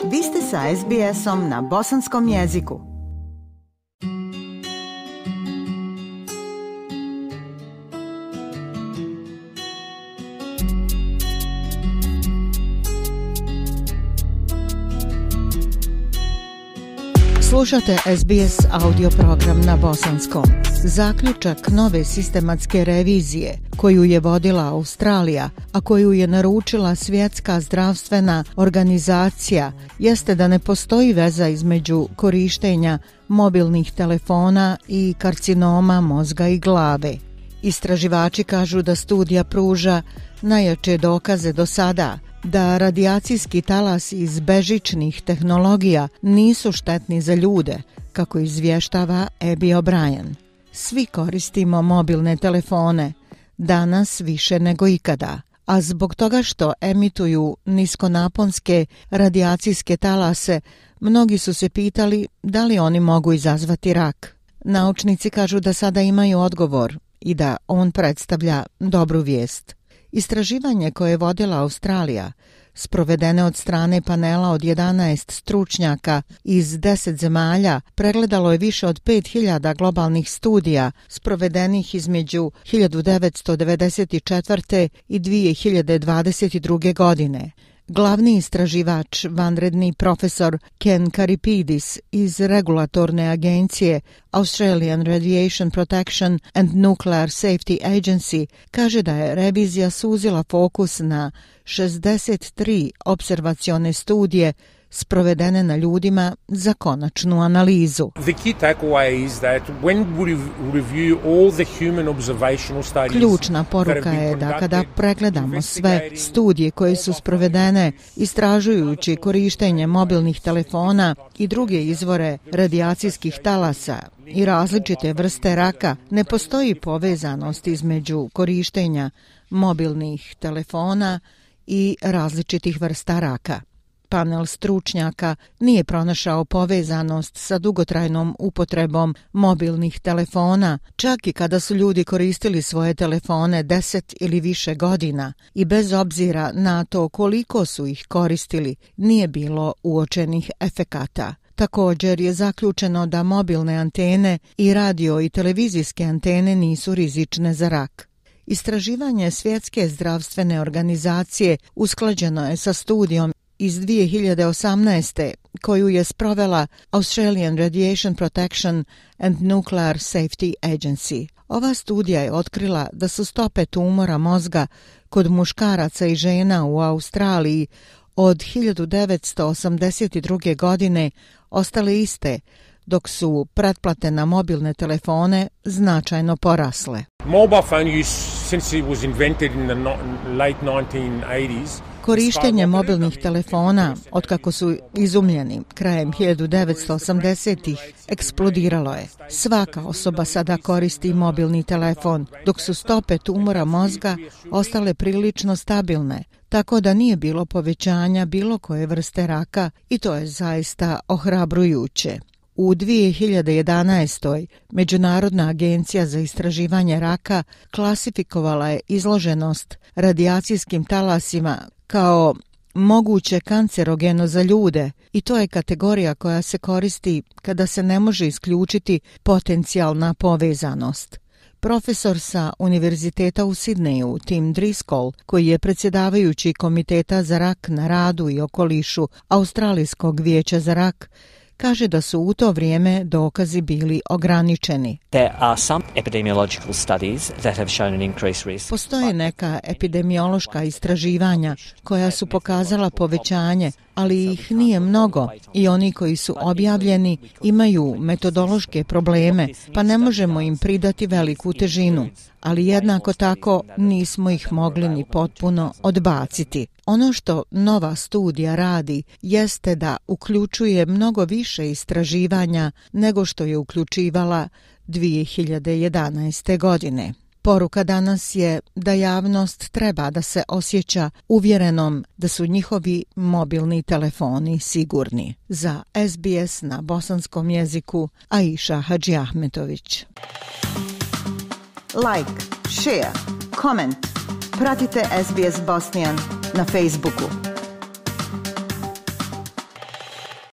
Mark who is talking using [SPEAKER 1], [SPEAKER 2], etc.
[SPEAKER 1] Vi ste sa SBS-om na bosanskom jeziku. Slušate SBS audio program na bosanskom. Zaključak nove sistematske revizije koju je vodila Australija, a koju je naručila Svjetska zdravstvena organizacija, jeste da ne postoji veza između korištenja mobilnih telefona i karcinoma mozga i glave. Istraživači kažu da studija pruža najjače dokaze do sada da radijacijski talas iz bežičnih tehnologija nisu štetni za ljude, kako izvještava Abby O'Brien. Svi koristimo mobilne telefone, danas više nego ikada, a zbog toga što emituju niskonaponske radijacijske talase, mnogi su se pitali da li oni mogu izazvati rak. Naučnici kažu da sada imaju odgovor i da on predstavlja dobru vijest. Istraživanje koje je vodila Australija, sprovedene od strane panela od 11 stručnjaka iz 10 zemalja, pregledalo je više od 5000 globalnih studija sprovedenih između 1994. i 2022. godine. Glavni istraživač, vanredni profesor Ken Karipidis iz regulatorne agencije Australian Radiation Protection and Nuclear Safety Agency kaže da je revizija suzila fokus na 63 opservacione studije sprovedene na ljudima za konačnu analizu. Ključna poruka je da kada pregledamo sve studije koje su sprovedene istražujući korištenje mobilnih telefona i druge izvore radijacijskih talasa i različite vrste raka, ne postoji povezanost između korištenja mobilnih telefona i različitih vrsta raka. Panel stručnjaka nije pronašao povezanost sa dugotrajnom upotrebom mobilnih telefona, čak i kada su ljudi koristili svoje telefone 10 ili više godina i bez obzira na to koliko su ih koristili, nije bilo uočenih efekata. Također je zaključeno da mobilne antene i radio i televizijske antene nisu rizične za rak. Istraživanje Svjetske zdravstvene organizacije usklađeno je sa studijom iz 2018. koju je sprovela Australian Radiation Protection and Nuclear Safety Agency. Ova studija je otkrila da su stope tumora mozga kod muškaraca i žena u Australiji od 1982. godine ostale iste, dok su pretplate na mobilne telefone značajno porasle.
[SPEAKER 2] Mobile phone use since it was invented in the late 1980s.
[SPEAKER 1] Korištenje mobilnih telefona, otkako su izumljeni krajem 1980-ih, eksplodiralo je. Svaka osoba sada koristi mobilni telefon, dok su stope tumora mozga ostale prilično stabilne, tako da nije bilo povećanja bilo koje vrste raka i to je zaista ohrabrujuće. U 2011. Međunarodna agencija za istraživanje raka klasifikovala je izloženost radijacijskim talasima kao moguće kancerogeno za ljude i to je kategorija koja se koristi kada se ne može isključiti potencijalna povezanost. Profesor sa Univerziteta u Sidneju, Tim Driscoll, koji je predsjedavajući Komiteta za rak na radu i okolišu Australijskog vijeća za rak, kaže da su u to vrijeme dokazi bili ograničeni. Postoje neka epidemiološka istraživanja koja su pokazala povećanje, ali ih nije mnogo i oni koji su objavljeni imaju metodološke probleme, pa ne možemo im pridati veliku težinu, ali jednako tako nismo ih mogli ni potpuno odbaciti. Ono što nova studija radi jeste da uključuje mnogo više istraživanja nego što je uključivala 2011. godine. Poruka danas je da javnost treba da se osjeća uvjerenom da su njihovi mobilni telefoni sigurni. Za SBS na bosanskom jeziku Aisha Hadžiahmetović. Like, share, comment. Pratite SBS Bosnian na Facebooku.